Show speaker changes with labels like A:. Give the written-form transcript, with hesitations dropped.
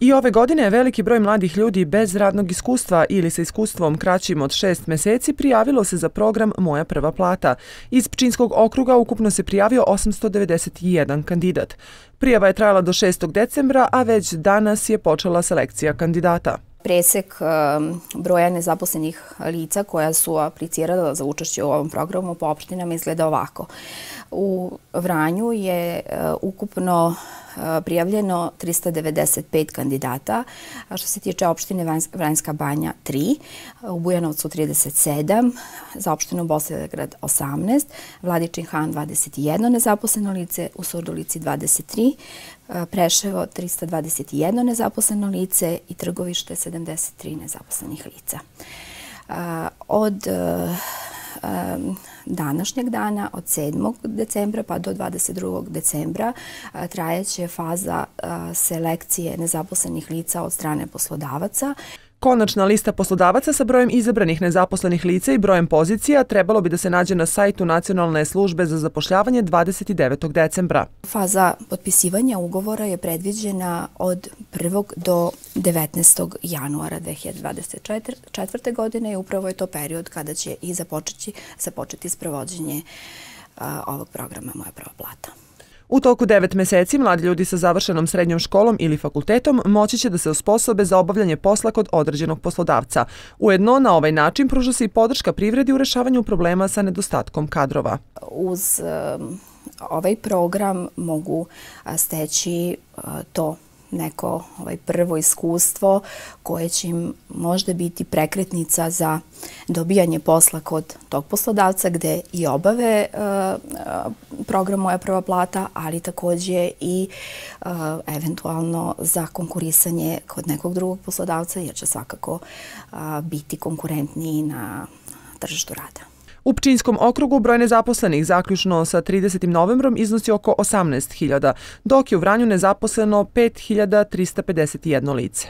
A: I ove godine je veliki broj mladih ljudi bez radnog iskustva ili sa iskustvom kraćim od 6 meseci prijavilo se za program Moja prva plata. Iz Pčinjskog okruga ukupno se prijavio 891 kandidat. Prijava je trajala do 6. decembra, a već danas je počela selekcija kandidata.
B: Presek broja nezaposlenih lica koja su aplicirala za učešće u ovom programu po opštinama izgleda ovako. U Vranju je ukupno prijavljeno 395 kandidata, a što se tiče opštine Vranjska Banja 3, u Bujanovcu 37, za opštinu Bosilegrad 18, Vladičin Han 21 nezaposleno lice, u Surdulici 23, Preševo 321 nezaposleno lice i Trgovište 73 nezaposlenih lica. Od današnjeg dana, od 7. decembra pa do 22. decembra, trajeće faza selekcije nezaposlenih lica od strane poslodavaca.
A: Konačna lista poslodavaca sa brojem izabranih nezaposlenih lica i brojem pozicija trebalo bi da se nađe na sajtu Nacionalne službe za zapošljavanje 29. decembra.
B: Faza potpisivanja ugovora je predviđena od 1. do 19. januara 2024. godine i upravo je to period kada će i započeti sprovođenje ovog programa Moja prva plata.
A: U toku 9 meseci mladi ljudi sa završenom srednjom školom ili fakultetom moći će da se osposobe za obavljanje posla kod određenog poslodavca. Ujedno, na ovaj način pruža se i podrška privredi u rešavanju problema sa nedostatkom kadrova.
B: Uz ovaj program mogu steći to neko prvo iskustvo koje će im možda biti prekretnica za dobijanje posla kod tog poslodavca gde i obave program Moja prva plata, ali takođe i eventualno za konkurisanje kod nekog drugog poslodavca jer će svakako biti konkurentniji na tržištu rada.
A: U Pčinjskom okrugu broj nezaposlenih zaključno sa 30. novembrom iznosi oko 18.000, dok je u Vranju nezaposleno 5.351 lice.